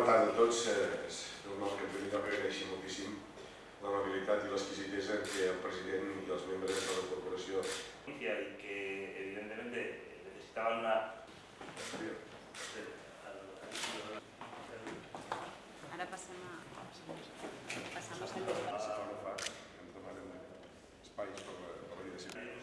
tarda a tots. És normal que en primer lloc agraeixi moltíssim l'amabilitat i l'exquisitesa en què el president i els membres de la corporació y que evidentemente necesitaban una... Ara passem a... Passamos al... Si fa o no fa, ens demanen espais per la vida civil.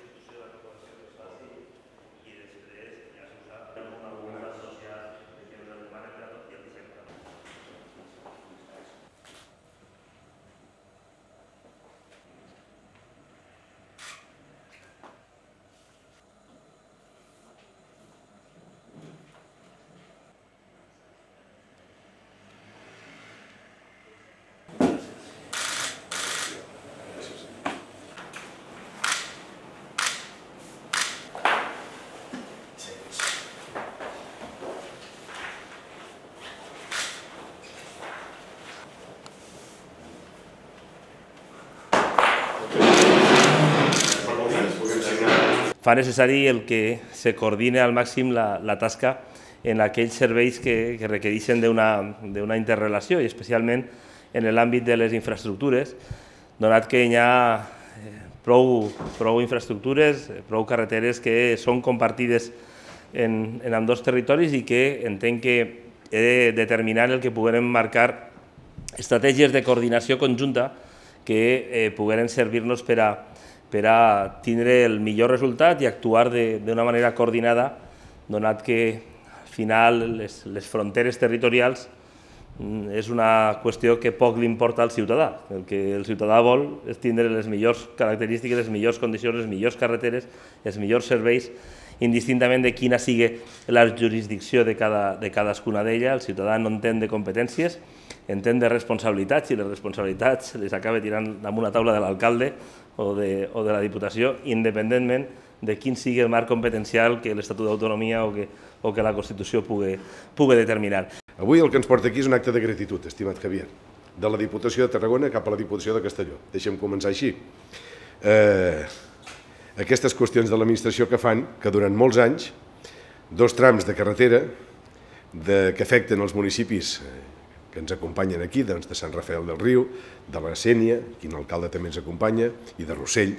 Fa necessari el que se coordine al màxim la tasca en aquells serveis que requereixen d'una interrelació, i especialment en l'àmbit de les infraestructures, donat que hi ha prou infraestructures, prou carreteres que són compartides en ambdós territoris i que entenc que he de determinar el que puguem marcar estratègies de coordinació conjunta que pugueren servir-nos per a tindre el millor resultat i actuar d'una manera coordinada, donat que al final les fronteres territorials és una qüestió que poc li importa al ciutadà. El que el ciutadà vol és tindre les millors característiques, les millors condicions, les millors carreteres, els millors serveis, indistintament de quina sigui la jurisdicció de cadascuna d'elles. El ciutadà no entén de competències, entén de responsabilitats, i les responsabilitats les acaba tirant damunt la taula de l'alcalde o de la Diputació, independentment de quin sigui el marc competencial que l'Estatut d'Autonomia o que la Constitució pugui determinar. Avui el que ens porta aquí és un acte de gratitud, estimat Javier, de la Diputació de Tarragona cap a la Diputació de Castelló. Deixem començar així. Aquestes qüestions de l'administració que fan que durant molts anys dos trams de carretera que afecten els municipis que ens acompanyen aquí, de Sant Rafael del Riu, de la Sénia, quin alcalde també ens acompanya, i de Rossell,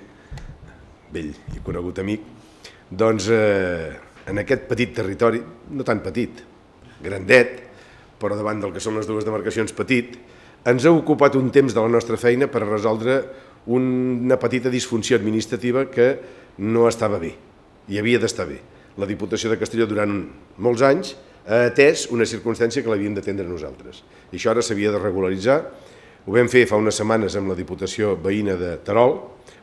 vell i conegut amic, doncs en aquest petit territori, no tan petit, grandet, però davant del que són les dues demarcacions petit, ens ha ocupat un temps de la nostra feina per a resoldre una petita disfunció administrativa que no estava bé, i havia d'estar bé. La Diputació de Castelló durant molts anys ha atès una circumstància que l'havíem d'atendre nosaltres. I això ara s'havia de regularitzar. Ho vam fer fa unes setmanes amb la Diputació veïna de Terol,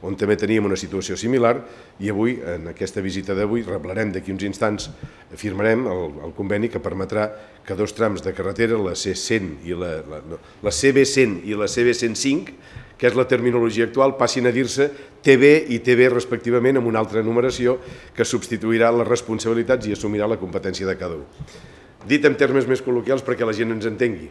on també teníem una situació similar, i avui, en aquesta visita d'avui, reblarem d'aquí uns instants, firmarem el conveni que permetrà que dos trams de carretera, la C100 i la CB100 i la CB105, que és la terminologia actual, passin a dir-se TB i TB respectivament, amb una altra numeració que substituirà les responsabilitats i assumirà la competència de cada un. Dit en termes més col·loquials perquè la gent ens entengui,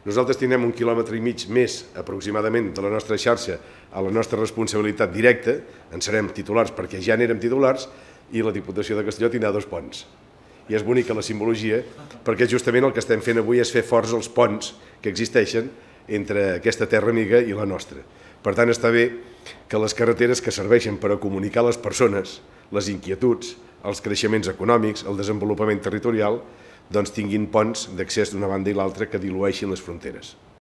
nosaltres tindrem 1,5 quilòmetres més aproximadament de la nostra xarxa a la nostra responsabilitat directa, en serem titulars perquè ja n'érem titulars, i la Diputació de Castelló tindrà 2 ponts. I és bonica la simbologia perquè justament el que estem fent avui és fer forts els ponts que existeixen entre aquesta terra amiga i la nostra. Per tant, està bé que les carreteres que serveixen per a comunicar les persones, les inquietuds, els creixements econòmics, el desenvolupament territorial, doncs tinguin ponts d'accés d'una banda i l'altra que dilueixin les fronteres.